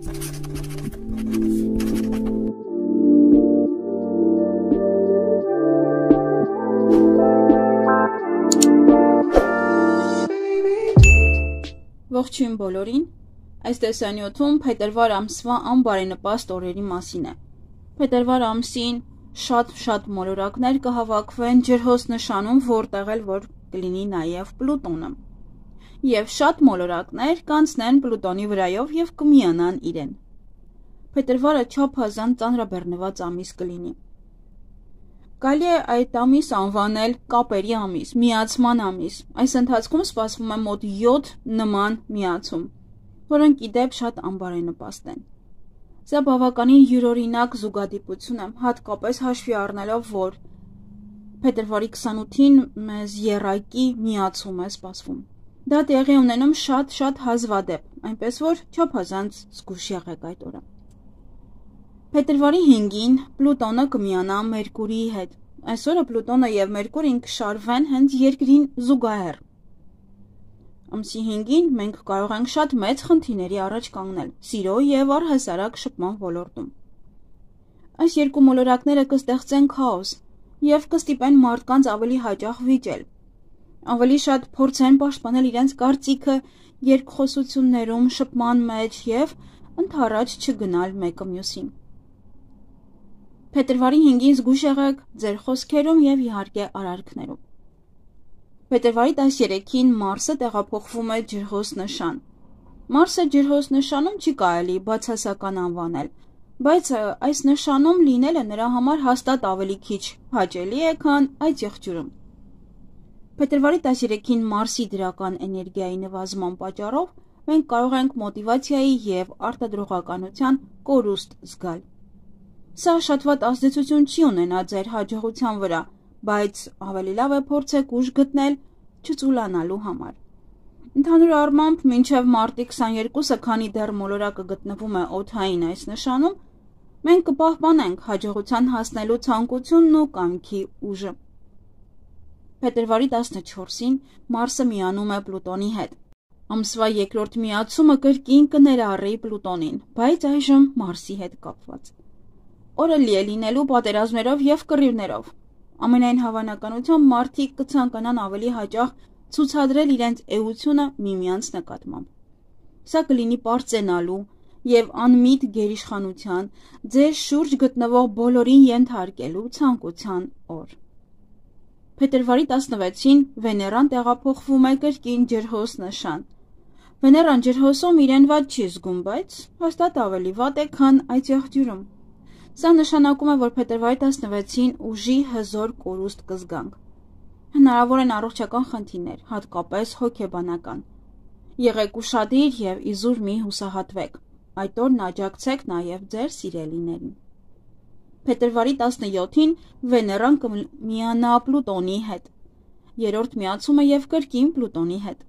Ողջույն բոլորին, այս տեսանյութում փետրվար ամսվա անբարենպաստ օրերի մասին է։ Փետրվար ամսին շատ մոլորակներ կհավաքվեն ջրհոս նշանում, որտեղ էլ որ կլինի նաև Պլուտոնը։ Եվ շատ մոլորակներ կանցնեն Պլուտոնի վրայով եւ կմիանան իրեն։ Փետրվարը չափազանց ծանրաբեռնված ամիս կլինի։ Կարելի է այդ ամիս անվանել կապերի ամիս, միացման ամիս։ Այս ընթացքում սպասվում է մոտ 7 նման միացում, որոնք ի դեպ շատ անբարենպաստ են։ Սա բավականին յուրօրինակ զուգադիպություն է, հատկապես հաշվի առնելով, որ փետրվարի 28-ին մեզ եռակի միացում է սպասվում։ Դա տեղի ունենում շատ հազվադեպ, այնպես որ չափազանց զգուշ եղեք այդ օրը։ Փետրվարի 5-ին Պլուտոնը կմիանա Մերկուրիի հետ։ Այսօրը Պլուտոնը եւ Մերկուրին կշարվեն հենց երկրին զուգահեռ։ Ամսի 5-ին մենք կարող ենք շատ մեծ խնդիրների առաջ կանգնել սիրո եւ առհասարակ շփման ոլորտում։ Այս երկու մոլորակները կստեղծեն քաոս եւ կստիպեն մարդկանց ավելի հաճախ վիճել։ Ավելի շատ փորձեն պաշտպանել իրենց կարծիքը երկխոսություններում, շփման մեջ եւ ընդառաջ չգնալ մեկը մյուսին։ Փետրվարի 5-ին զգուշ եղեք ձեր խոսքերում եւ իհարկե արարքներում։ Փետրվարի 13-ին Մարսը տեղափոխվում է ջրհոս նշան։ Մարսը ջրհոս նշանում չի կարելի բացասական անվանել, բայց այս նշանում լինելը նրա համար հաստատ ավելի քիչ հաճելի է, քան այդ եղջյուրում։ Փետրվարի 13-ին Մարսի դրական էներգիայի նվազման պատճառով մենք կարող ենք մոտիվացիայի եւ արտադրողականության կորուստ զգալ։ Սա շատ վատ ազդեցություն չի ունենա ձեր հաջողության վրա, բայց ավելի լավ է փորձեք ուժ գտնել չծուլանալու համար։ Ընդհանուր առմամբ, մինչև մարտի 22-ը, քանի դեռ մոլորակը գտնվում է օդային այս նշանում, մենք կպահպանենք հաջողության հասնելու ցանկությունն ու կամքի ուժը։ Փետրվարի 14-ին Մարսը միանում է Պլուտոնի հետ։ Ամսվա երկրորդ միացումը կրկին կներառի Պլուտոնին, բայց այժմ Մարսի հետ կապված։ Օրը լի է լինելու պատերազմներով եւ կռիվներով։ Ամենայն հավանականությամբ մարդիկ կցանկանան ավելի հաճախ ցուցադրել իրենց էությունը միմյանց նկատմամբ։ Սա կլինի պարծենալու եւ անմիտ գերիշխանության, ձեր շուրջ գտնվող բոլորին ենթարկելու ցանկության օր։ Փետրվարի 16-ին Վեներան տեղափոխվում է կրկին ջրհոս նշան։ Վեներան ջրհոսում իրեն վատ չի զգում, բայց հաստատ ավելի վատ է, քան այդ եղջյուրում։ Սա նշանակում է, որ փետրվարի 16-ին ուժի հզոր կորուստ կզգանք։ Հնարավոր են առողջական խնդիրներ, հատկապես հոգեբանական։ Եղեք ուշադիր եւ իզուր մի հուսահատվեք։ Այդ օրն աջակցեք նաեւ ձեր սիրելիներին։ Փետրվարի 17-ին Վեներան կմիանա Պլուտոնի հետ։ Երրորդ միացումը եւ կրկին Պլուտոնի հետ։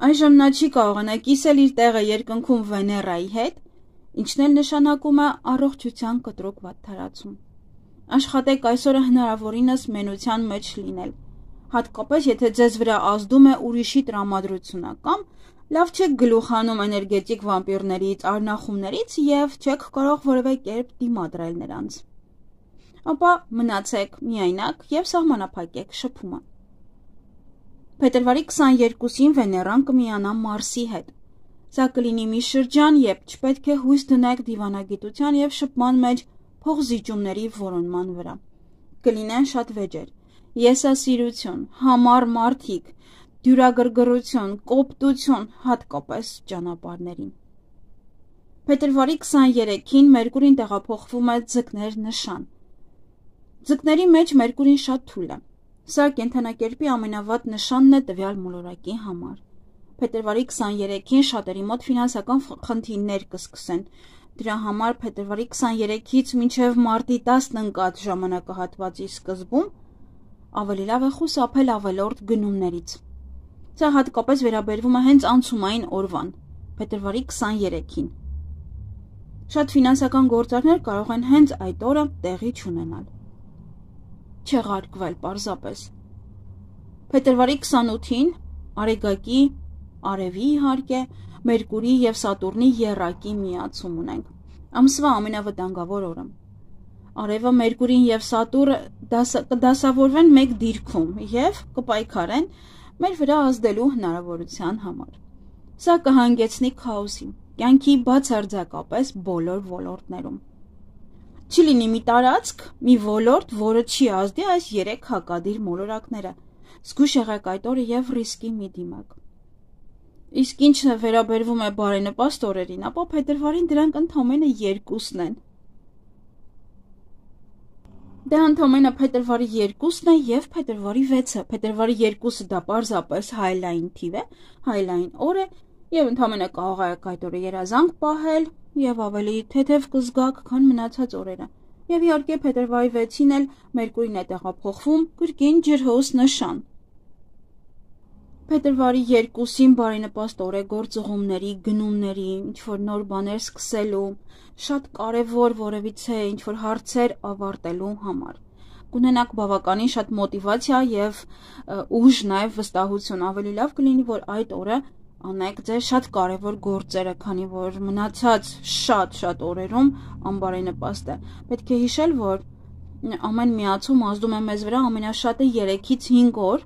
Այժմ նա չի կարողանա կիսել իր տեղը երկնքում Վեներայի հետ, ինչն էլ նշանակում է առողջության կտրուկ վատթարացում։ Աշխատեք այսօրը հնարավորինս մենության մեջ լինել, հատկապես եթե ձեզ վրա ազդում է ուրիշի տրամադրությունը, կամ լավ չեք գլուխանում էներգետիկ վամպիրներից, արնախումներից եւ չեք կարող որևէ կերպ դիմադրել նրանց։ Ապա մնացեք միայնակ եւ սահմանափակեք շփումը։ Փետրվարի 22-ին Վեներան կմիանա Մարսի հետ։ Սա կլինի մի շրջան, երբ չպետք է հույս դնեք դիվանագիտության եւ շփման մեջ փողզիջումների որոնման վրա։ Կլինեն շատ վեճեր, եսասիրություն, համառ մարդիկ, դյուրագրգռություն, կոպտություն, հատկապես ճանապարհներին։ Փետրվարի 23-ին Մերկուրին տեղափոխվում է Ձկներ նշան։ Ձկների մեջ Մերկուրին շատ թույլ է։ Սա կենդանակերպի ամենավատ նշանն է տվյալ մոլորակի համար։ Փետրվարի 23-ին շատերի մոտ ֆինանսական խնդիրներ կսկսեն։ Դրա համար փետրվարի 23-ից մինչև մարտի 10-ն ընկած ժամանակահատվածի սկզբում ավելի լավ է խուսափել ավելորդ գնումներից։ Սա հատկապես վերաբերվում է հենց անցումային օրվան, փետրվարի 23-ին։ Շատ ֆինանսական գործարքներ կարող են հենց այդ օրը տեղի չունենալ։ Չեղարկվել պարզապես։ Փետրվարի 28-ին Արեգակի, Արևի իհարկե, Մերկուրի և Սատուրնի եռակի միացում ունենք։ Ամսվա ամենավտանգավոր օրը։ Արևը, Մերկուրին և Սատուրը կդասավորվեն մեկ դիրքում և կպայքարեն մեր վրա ազդելու հնարավորության համար։ Սա կհանգեցնի քաոսի, կյանքի բացարձակապես բոլոր ոլորտներում։ Չի լինի մի տարածք, մի ոլորտ, որը չի ազդի այս 3 հակադիր մոլորակները՝ զգույշ եղեք այդ օրը և ռիսկի մի դիմեք։ Իսկ ինչ վերաբերվում է բարենպաստ օրերին, ապա փետրվարին դրանք ընդամենը 2-ն են։ Դա ընդամենը փետրվարի 2-ն է և փետրվարի 6-ը։ Փետրվարի 2-ը դա պարզապես հայլային թիվ է, հայլային օր է և ընդամենը կարող եք այդ օրը երազանք պահել և ավելի թեթև կզգաք, քան մնացած օրերը։ Եվ իհարկե փետրվարի 6-ին էլ Մերկուրին է տեղափոխվում կրկին ջրհոս նշան։ Փետրվարի 2-ին բարենպաստ օր է գործուղումների, գնումների, ինչ-որ նոր բաներ սկսելու, շատ կարևոր որևիցե ինչ-որ հարցեր ավարտելու համար։ Կունենաք բավականին շատ մոտիվացիա և ուժ, նաև վստահություն։ Ավելի լավ կլինի, որ այդ օրը անեք ձեր շատ կարևոր գործերը, քանի որ մնացած շատ օրերում անբարենպաստ է։ Պետք է հիշել, որ ամեն միացում ազդում է մեզ վրա ամենաշատը 3-ից 5 օր,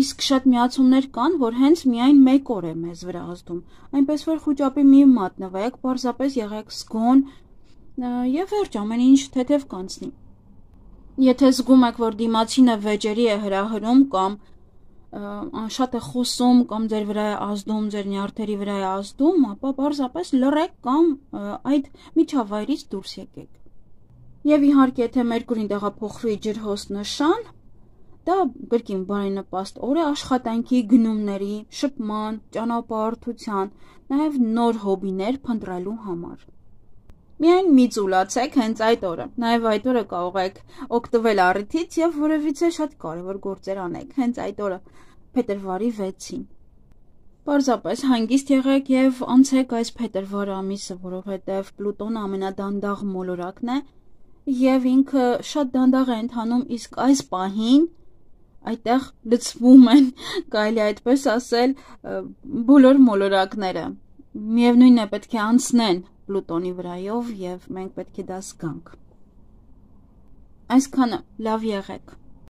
իսկ շատ միացումներ կան, որ հենց միայն 1 օր է մեզ վրա ազդում, այնպես որ խուճապի մի մատնվեք, պարզապես եղեք զգոն և վերջ, ամեն ինչ թեթև կանցնի։ Եթե զգում եք, որ դիմացինը վեճերի է հրահրում կամ շատ է խոսում կամ ձեր վրա է ազդում, ձեր նյարդերի վրա է ազդում, ապա պարզապես լռեք կամ այդ միջավայրից դուրս եկեք։ Եվ իհարկե, եթե Մերկուրին տեղափոխվի ջրհոս նշան, դա կրկին բարենպաստ օր է աշխատանքի, գնումների, շփման, ճանապարհորդության, նաև նոր հոբիներ փնտրելու համար։ Միայն մի ծուլացեք հենց այդ օրը, նաև այդ օրը կարող եք օգտվել առիթից և որևիցե շատ կարևոր գործեր անեք հենց այդ օրը, փետրվարի 6-ին։ Պարզապես հանգիստ եղեք և անցեք այս փետրվար ամիսը, որովհետև Պլուտոնը ամենադանդաղ մոլորակն է և ինքը շատ դանդաղ է ընթանում, իսկ այս պահին այդտեղ լցվում են, կարելի է այդպես ասել, բոլոր մոլորակները։ Միևնույնն է, պետք է անցնեն Պլուտոնի վրայով և մենք պետք է դա զգանք։ Այսքանը, լավ եղեք։